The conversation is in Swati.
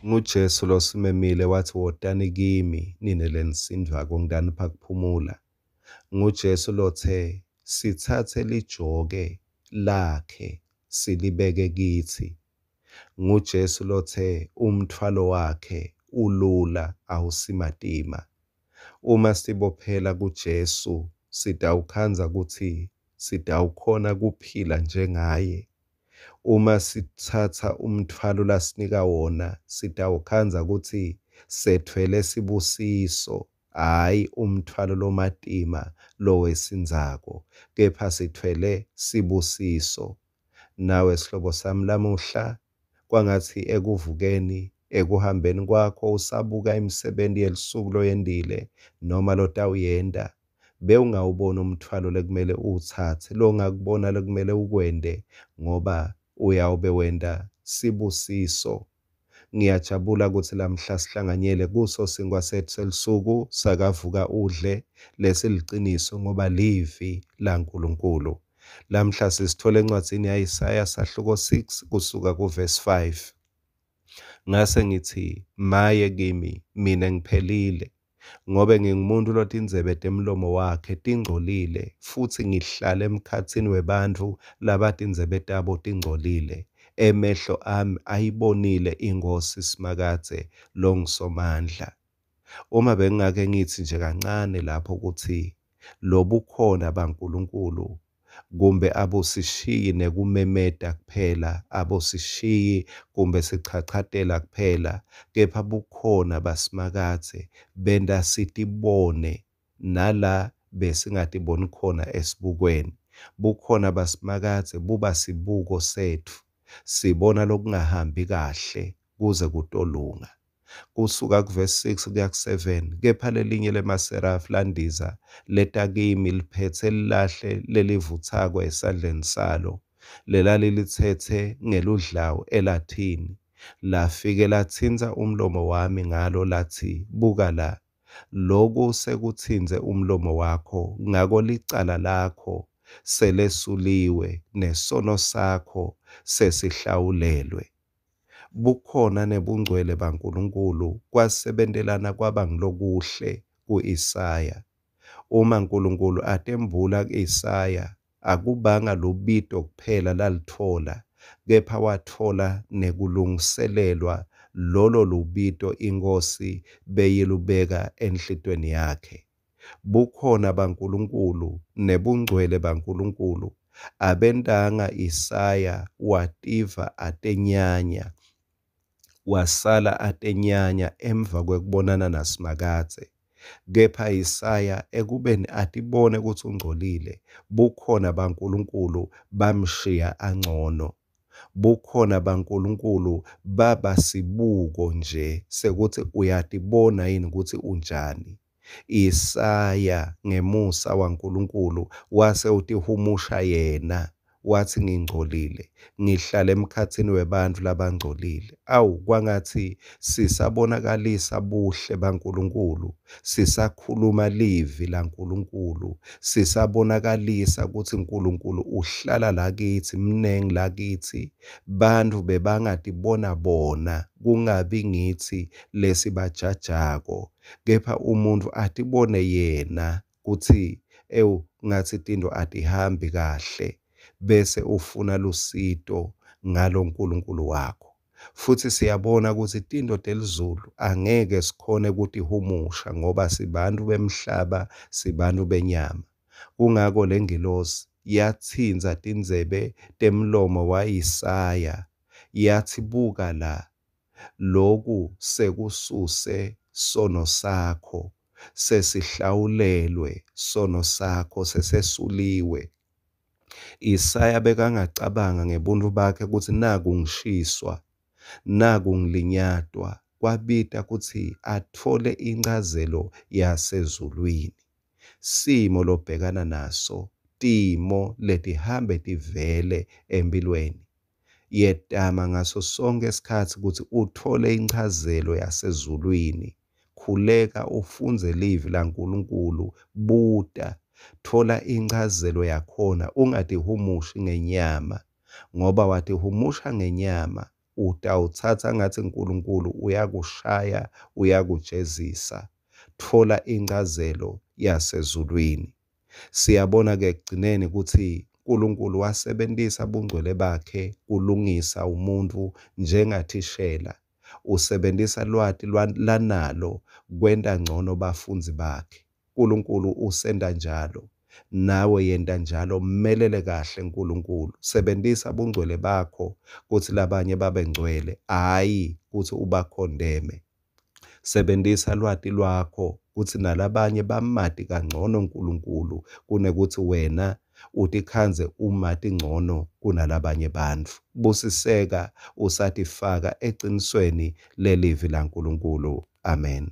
NguJesu losimemile watsi wotani kimi nine lenisindvwako ngitanipha kuphumula. NguJesu lotse sitsatse lijoke lakhe silibeke kitsi. NguJesu lotse umtfwalo wakhe ulula awusimatima. Uma sitibophela kuJesu sitawukhandza kutsi sitawukhona kuphila njengaye. Uma sitsatsa umtfwalo lasinika wona sitawukhandza kutsi setfwele sibusiso hhayi umtfwalo lomatima lowesindzako kepha sitfwele sibusiso. Nawe sihlobo sami lamuhla kwangatsi ekuvukeni ekuhambeni kwakho usabuka imisebenti yelusuku loyentile noma lotawuyenta bewungawubona umtfwalo lekumele uwutsatse longakubona lekumele ukwente ngoba uyawube wenta sibusiso. Ngiyajabula kutsi lamhla sihlanganyele kuso sinkwa setfu selusuku sakavuka udle lesiliciniso ngoba livi laNkulunkulu. Lamhla sisithola encwadzini yaIsaya sahluko 6 kusuka kuvesi 5. Ngase ngitsi, maye kimi, mine ngiphelile, ngobe ngingumuntu lotindzebe temlomo wakhe tingcolile, futsi ngihlala emkhatsini webantfu labatindzebe tabo tingcolile. Emehlo ami ayibonile iNkhosi Simakadze longuSomandla. Uma bengingake ngitsi nje kancane lapho kutsi lobukhona baNkulunkulu kumbe abusishiyi nekumemeta kuphela, abusishiyi kumbe sichachatela kuphela, kepha bukhona baSimakadze benta sitibone nala besingatiboni khona esibukweni. Bukhona baSimakadze buba sibuko setfu, sibona lokungahambi kahle kuze kutolunga. Kusuka kuvesi 6 kuya ku-7, kepha lelinye lemaserafi landiza leta kimi liphetse lilahle lelivutsako esandleni salo lelalilitsetse ngeludlawu elathini, lafike latsintsa umlomo wami ngalo latsi, buka la, loku sekutsintse umlomo wakho, ngako licala lakho selesuliwe nesono sakho sesihlawulelwe. Bukhona nebungcwele baNkulunkulu kwasebentelana kwaba ngulokuhle ku-Isaya. Uma Nkulunkulu atembula ku-Isaya, akubanga lubito kuphela lalitfola, kepha watfola nekulungiselelwa lolo lubito iNkhosi beyilubeka enhlitiyweni yakhe. Bukhona baNkulunkulu nebungcwele baNkulunkulu abentanga Isaya wativa atenyanya, wasala atenyanya emva kwekubonana naSimakadze. Kepha Isaya ekubeni atibone kutsi ungcolile, bukhona baNkulunkulu bamshiya angcono. Bukhona baNkulunkulu baba sibuko nje sekuthi uyatibona yini kutsi unjani. Isaya ngemusa waNkulunkulu wase utihumusha yena watsi ngingcolile, ngihlala emkhatsini webantfu labangcolile. Awu, kwangatsi sisabonakalisa buhle baNkulunkulu, sisakhuluma livi laNkulunkulu, sisabonakalisa kutsi Nkulunkulu uhlala lakitsi, mnengi lakitsi. Bantfu bebangatibona bona, kungabi ngitsi lesibajajako, kepha umuntfu atibone yena kutsi ewu ngatsi tintfo atihambi kahle, bese ufuna lusito ngalo Nkulunkulu wakho. Futsi siyabona kutsi tintfo telizulu angeke sikhone kutihumusha ngoba sibantfu bemhlaba, sibantfu benyama. Kungako lengilosi yatsintsa tindzebe temlomo waIsaya yatsi, buka la, loku sekususe sono sakho, sesihlawulelwe sono sakho, sesesuliwe. Isaya bekangacabanga ngebuntfu bakhe kutsi naku ngishiswa, naku ngilinyatwa, kwabita kutsi atfole inchazelo yasezulwini. Simo lobhekana naso, timo letihambe tivele empilweni. Yetama ngaso sonkhe sikhatsi kutsi utfole inchazelo yasezulwini. Khuleka ufundze livi laNkulunkulu, buta, thola inchazelo yakhona, ungatihumushi ngenyama, ngoba watihumusha ngenyama. Utawutsatsa ngatsi Nkulunkulu uyakushaya, uyakujezisa. Tfola inchazelo yasezulwini. Siyabona-ke ekugcineni kutsi Nkulunkulu wasebentisa bungcwele bakhe kulungisa umuntfu njengathishela usebentisa lwati lanalo kwenta ncono bafundzi bakhe. Nkulunkulu usenta njalo. Nawe yenta njalo, mmelele kahle Nkulunkulu. Sebentisa bungcwele bakho kutsi labanye babe ngcwele, hhayi kutsi ubakhondeme. Sebentisa lwati lwakho kutsi nalabanye bamati kangcono Nkulunkulu kunekutsi wena utikhandze umati ncono kunalabanye bantfu. Busiseka usatifaka ecinisweni lelivi laNkulunkulu. Amen.